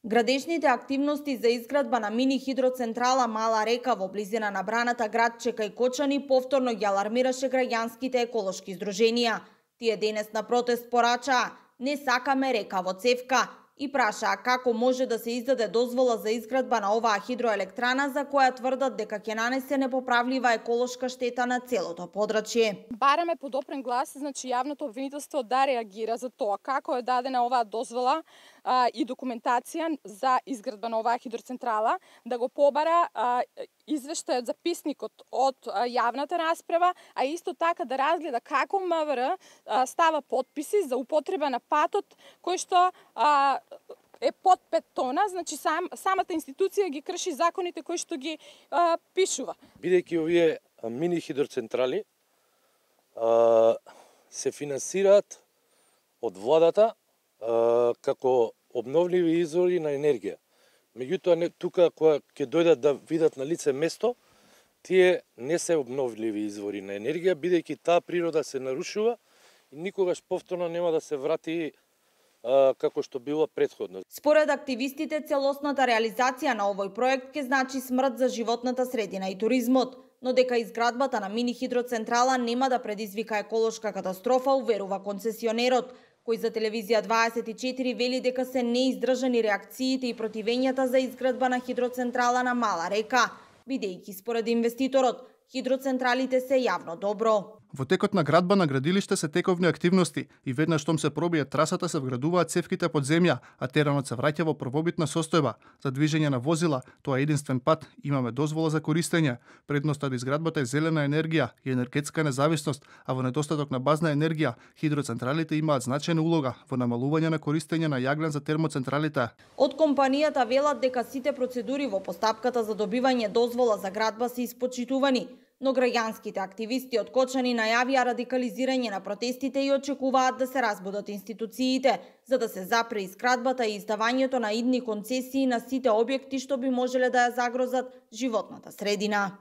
Градежните активности за изградба на мини хидроцентрала Мала Река во близина на браната градче кај Кочани повторно ги алармираше граѓанските еколошки здруженија. Тие денес на протест порачаа: "Не сакаме река во цевка", и прашаа како може да се издаде дозвола за изградба на оваа хидроелектрана за која тврдат дека ќе нанесе непоправлива еколошка штета на целото подрачје. Бараме подопрен глас, значи јавното обвинителство да реагира за тоа како е дадена оваа дозвола и документација за изградба на оваа хидроцентрала, да го побара извештајот, записникот од јавната расправа, а исто така да разгледа како МВР става подписи за употреба на патот кој што е под 5 тона, значи самата институција ги крши законите кои што ги пишува. Бидејќи овие мини хидроцентрали се финансираат од владата како обновливи извори на енергија. Меѓутоа, тука кога ќе дојдат да видат на лице место, тие не се обновливи извори на енергија, бидејќи таа природа се нарушува и никогаш повторно нема да се врати како што било претходно. Според активистите, целосната реализација на овој проект ќе значи смрт за животната средина и туризмот, но дека изградбата на мини хидроцентрала нема да предизвика еколошка катастрофа, уверува концесионерот, кој за телевизија 24 вели дека се неиздржани реакциите и противењата за изградба на хидроцентрала на Мала Река, бидејќи според инвеститорот хидроцентралите се јавно добро. Во текот на градба на градилиште се тековни активности и веднаш штом се пробие трасата се вградуваат цевките под земја, а теренот се враќа во првобитна состојба. За движење на возила, тоа е единствен пат, имаме дозвола за користење. Предноста од изградбата е зелена енергија и енергетска независност, а во недостаток на базна енергија, хидроцентралите имаат значајна улога во намалување на користење на јаглен за термоцентралите. Од компанијата велат дека сите процедури во постапката за добивање дозвола за градба се испочитувани, но граѓанските активисти од Кочани најавија радикализирање на протестите и очекуваат да се разбудат институциите, за да се запре изградбата и издавањето на идни концесии на сите објекти што би можеле да ја загрозат животната средина.